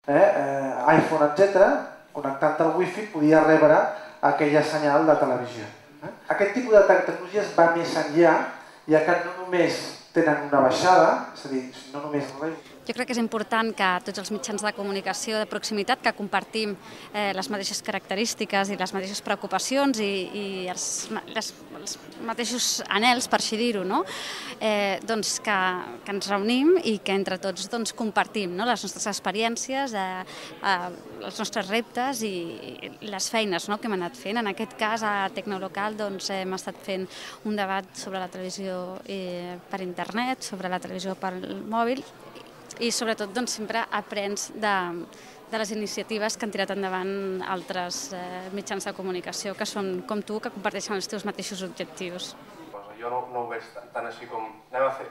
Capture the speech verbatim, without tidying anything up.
iPhone, etcètera, connectant al wifi podia rebre aquella senyal de televisió. Aquest tipus de tecnologies va més enllà, ja que no només tenen una baixada, és a dir, no només... Jo crec que és important que tots els mitjans de comunicació de proximitat, que compartim les mateixes característiques i les mateixes preocupacions i els mateixos anhels, per així dir-ho, doncs que ens reunim i que entre tots compartim les nostres experiències, els nostres reptes i les feines que hem anat fent. En aquest cas, a Tecnolocal hem estat fent un debat sobre la televisió per internet, sobre la televisió pel mòbil, i sobretot sempre aprens de les iniciatives que han tirat endavant altres mitjans de comunicació que són com tu, que comparteixen els teus mateixos objectius. Jo no ho veig tant així com anem a fer...